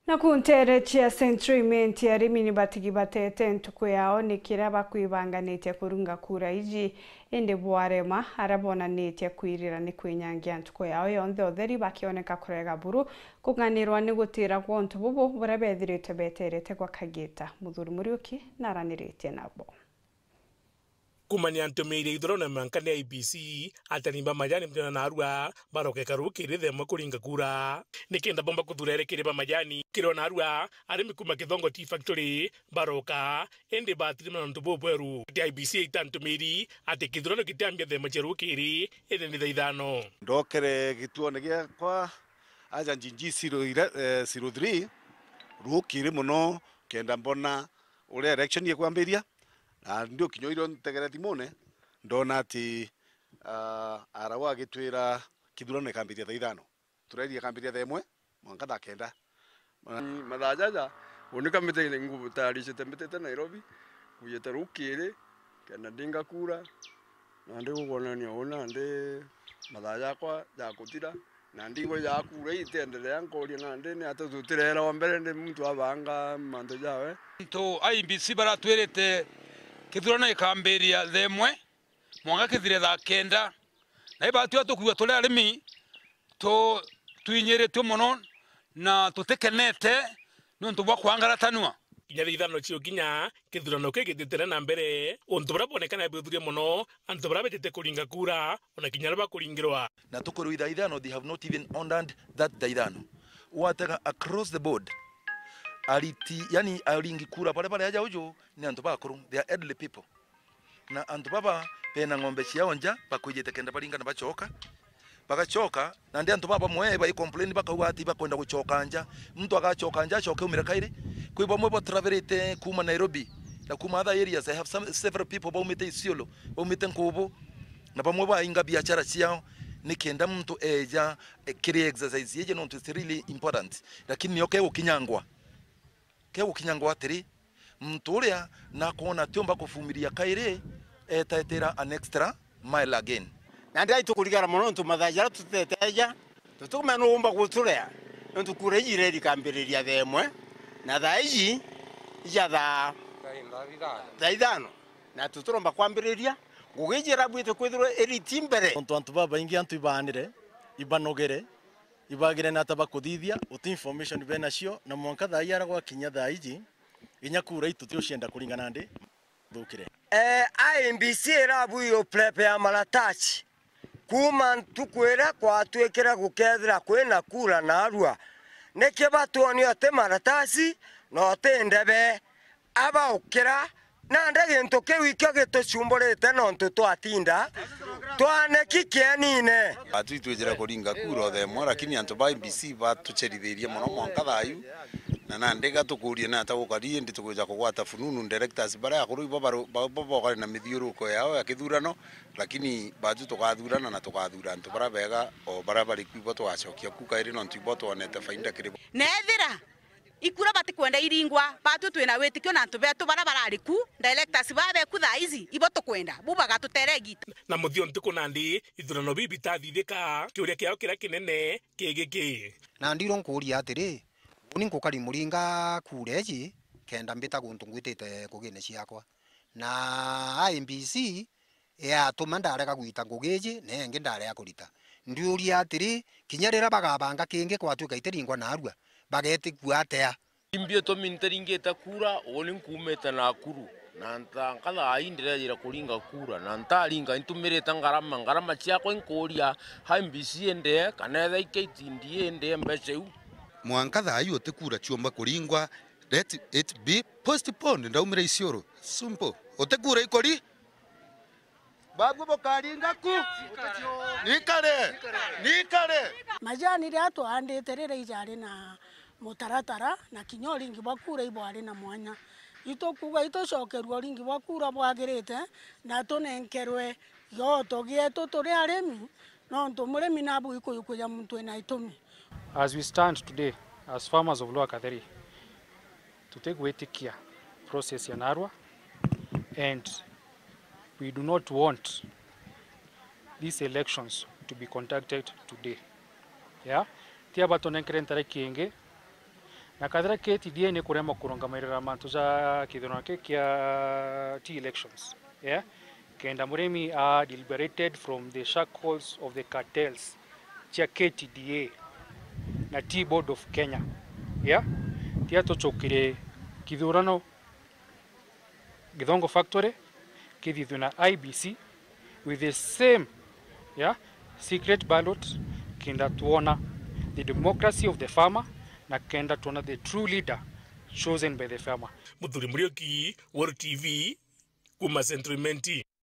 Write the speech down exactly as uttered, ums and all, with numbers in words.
Naku nteere cia Central Imenti, arimi ni batigi batete ntuku yao ni kiria bakwibanganitie kurunga kura iji, indi bwarema, aria bonanitie kwirira ni kwinyangia ntuku yao yonthe utheri, bakioneka kurega buru kung'anirwa ni gutira gwa untu bubu buria bethirite beterete gwa kagita. Muthuri Muriuki naraniritie nabo. Kumania ntumiiri ya ithurano na mwanka ni I E B C, atani ba majani muthiona na arua baroka ikaru kiri themwe kuringa kura. Nikenda bomba kuthura ere kiri ba majani, kiri ona arua arimi kuma Kithongo Tea Factory baroka, indi batiri na untu bubweru. Ati I E B C ita ntumiiri ati kithurano kitiambia themwe cia rukiri, indi ni thaa ithano. Ndokere gituone giakwa aja Njinji zero ire-, eh, zero three rukiri muno, kenda mbona uria election ikwambiria. Na ndi ukinya irio ntegere thimune, ndona ati, ah, arau agitwira kithurano ikambiria thaa ithano. Turairie ikambiria thaa imwe mwanka thaa kenda. Mathaa jaja, uni kamite ngutayaricite mbitite Nairobi, kujite rukiri, kenda ndinga kura, na ndi gukwonania uu nandi mathaa jakwa jakuthira. Na ndigwa ya kura itiendelea, nkoria nandi ni ata tutireera wa mbere ndi muntu abanga mantu jawe. Antu a I E B C baratwirite kithurano ikambiria thaa imwe, mwanka kithire thaa kenda. Na ibatwi tukwigua turi arimi tu-, twinyiritue mono na tutikenete niuntu bwa kwangaratanua. Kinya thaa ithano cia ukinya, kithurano kigititire na mbere, untu buria bwonekana bwithurie mono, antu baria betite kuringa kura, ona kinya aria bakuringirwa. Na tukwirwa ithaa ithano, they have not even honored that thaa ithano. Watega across the board, ariti, yani aringi kura baria bari aja uju ni antu bakuru, they are elderly people. Na antu baba bena ng'ombe ciao nja, bakwijite kenda baringa na bacoka. Bagacoka, nandi antu baba bamwe bai complain bakauga ati bakwenda gucoka nja. Muntu agacoka nja, acoke umire kairi. Kwi bamwe ba travelite kuma Nairobi, na kuma other areas. I have some, several people baumite Isiolo, baumite Nkubu, na bamwe bainga biashara ciao, nikenda muntu eja, eh, kiri exercise yeje, nontu it's really important. Lakini nio kegukinyangwa. Kegukinyangwa atiri, muntu uria nakwona atiumba kuvumiria kairi, etetera an extra mile again. Nandi ai tukurigara mono nontu mathaa jaria tuteteja, tutikumenya nu umba guturea, nontu kura iji ireri ikambiriria thaa imwe, na thaa iji ija thaa, thaa ithano, na tutiromba kwambiriria, ngugi iji irabuite kwithirwa iriti mbere. Nontu antu babaingi antu ibaanire, ibanogere, ibagire na ata bakuthithia, uti information benacio, na mwanka thaa ii ara gwakinya thaa iji, inya kura itu tiucienda kuringana ndi thukire. Eh, I E B C irabu yo prep ya maratasi. Kuma ntuku iria kwatwikire gukethira kwina kura narua, niki batwonie uti maratasi na uti ndebe? Abaukira, nandi gintu kiu ikio gitucumburite nontu twatinda twaneki kienine. Batwi twijire kuringa kura o thaa imwe, lakini antu ba I E B C batucerithirie mono mwanka thaa iu. Na nandi ga tukurie ni ata gukari, indi tukwija kugwata fununu directors baria akuru ibo baru-, ba-, bo bokari na mithiuruko yao ya kithurano, lakini batwi tukathurana na tukathura antu baria bega o baria bari ku ibo tugacokia ku kairi nontu ibo twonete faida kiri bo. Na ethira ikura batikwenda iringwa, batwi twina witikio na antu betu baria barari ku, directors baria beku thaa ici, ibo tukwenda, bu bagatutere igita. Na muthio ntuku nandi, ithurano biu bitathithika, kiuria kiao kiria kinene ki giki. Na ndirwo nkuuria atiri, uni nkukari muringa kura iji, kenda mbita guntu ngwitite ngugine ciakwa. Na I E B C yatuma ndarega gwita ngugi iji, na ingi ndarega kurita. Ndiuria atiri, kinya riria bagabanga kingi kwatwika itiringwa narua, bagetigua atia? Imbi itumi ntiringite kura, uni nkuumite Nakuru, na ntanka thaa ii ndirejire kuringa kura, na ntaringa intumirite ngarama, ngarama ciakwa inkuuria, I E B C indie, kana etha i K T D A indie mbeca iu? Mwanka thaa ii uti kura ciumba kuringwa, let it be postponed, ndaumire Isiolo. Simple. Uti kura ikuri. Babu bukaringa ku. Nikare. Nikare. Majani riria twaandite riria ijari na mutaratara, na kinya uringi bwa kura ibwari na mwanya. Itukuuga itucokerua uringi bwa kura bwagirite, na tunenkerwe gioto gietu turi arimi, nontu murimi nabu ikuyukuja muntu wina itumi. As we stand today, as farmers of Lower Katheri, tutigwitikia process ya narua, and we do not want these elections to be conducted today. Yeah? Ti aba tunenkere ntariki ingi, Na kathira K T D A ni kurema kurungamairira mantu ja kithurano ki kia tea elections, yeah? Kenda murimi a liberated from the shackles of the cartels cia K T D A na Tea Board of Kenya, yeah? Tia tucukire kithurano Githongo Factory kithithwe na I B C with the same, yeah, secret ballot, kenda tuona the democracy of the farmer na kenda tuona the true leader chosen by the farmer. Muthuri Muriuki, World T V, kuma Central Imenti.